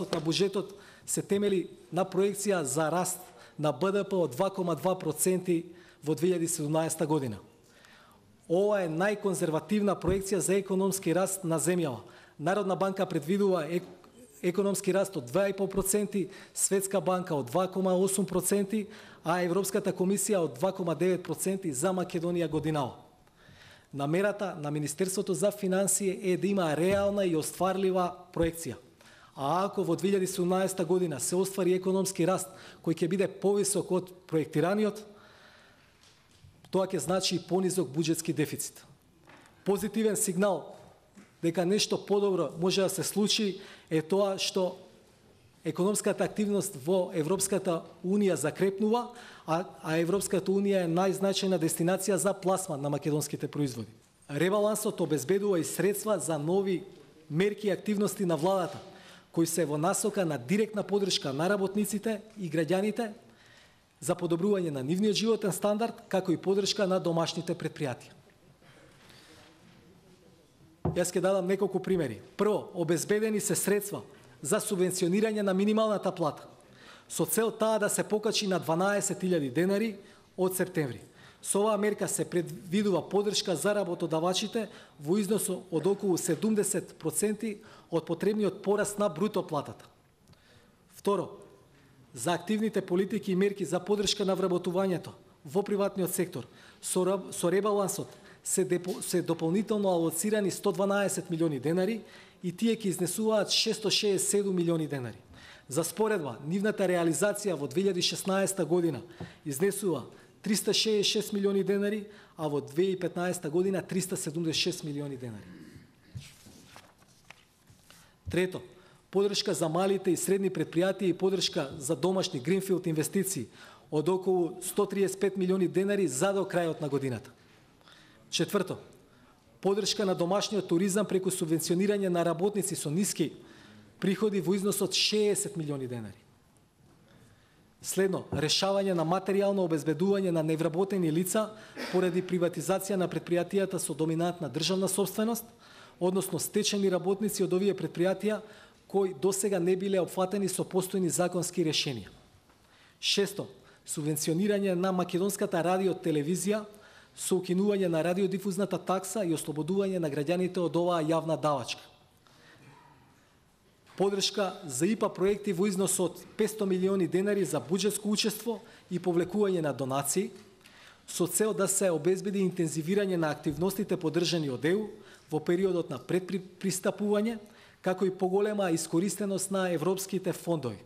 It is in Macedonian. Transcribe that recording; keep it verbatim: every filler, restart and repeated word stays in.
ребалансот на буџетот се темели на проекција за раст на Б Д П од два кома два проценти во две илјади и седумнаесета година. Ова е најконзервативна проекција за економски раст на земјава. Народна банка предвидува економски раст од два и пол проценти, Светска банка од два кома осум проценти, а Европската комисија од два кома девет проценти за Македонија годинава. Намерата на Министерството за финансии е да има реална и остварлива проекција. А ако во две илјади и седумнаесета година се оствари економски раст кој ќе биде повисок од проектираниот, тоа ќе значи и понизок буџетски дефицит. Позитивен сигнал дека нешто подобро може да се случи е тоа што економската активност во Европската Унија закрепнува, а, а Европската Унија е најзначајна дестинација за пласман на македонските производи. Ребалансот обезбедува и средства за нови мерки и активности на владата, кои се во насока на директна подршка на работниците и граѓаните за подобрување на нивниот животен стандард, како и подршка на домашните предпријатија. Јас ќе дадам неколку примери. Прво, обезбедени се средства за субвенционирање на минималната плата, со цел таа да се покачи на дванаесет илјади денари од септември. Со оваа мерка се предвидува подршка за работодавачите во износ од околу седумдесет проценти од потребниот пораст на бруто платата. Второ, за активните политики и мерки за подршка на вработувањето во приватниот сектор, со, со ребалансот се, депо, се дополнително алоцирани сто дванаесет милиони денари и тие ќе изнесуваат шесто шеесет и седум милиони денари. За споредба, нивната реализација во две илјади и шеснаесета година изнесува триста шеесет и шест милиони денари, а во две илјади и петнаесета година триста седумдесет и шест милиони денари. Трето, подршка за малите и средни предпријатија и подршка за домашни гринфилд инвестиции од околу сто триесет и пет милиони денари за до крајот на годината. Четврто, подршка на домашниот туризам преку субвенционирање на работници со ниски приходи во износ од шеесет милиони денари. Следно, решавање на материјално обезбедување на невработени лица поради приватизација на предпријатијата со доминантна државна собственост, односно стечени работници од овие предпријатија кои досега не биле опфатени со постојни законски решенија. Шесто, субвенционирање на македонската радио-телевизија со укинување на радиодифузната такса и ослободување на граѓаните од оваа јавна давачка. Подршка за ИПА проекти во износ од петстотини милиони денари за буџетско учество и повлекување на донации, со цел да се обезбеди интензивирање на активностите поддржани од Е У во периодот на предпристапување, како и поголема искористеност на европските фондови.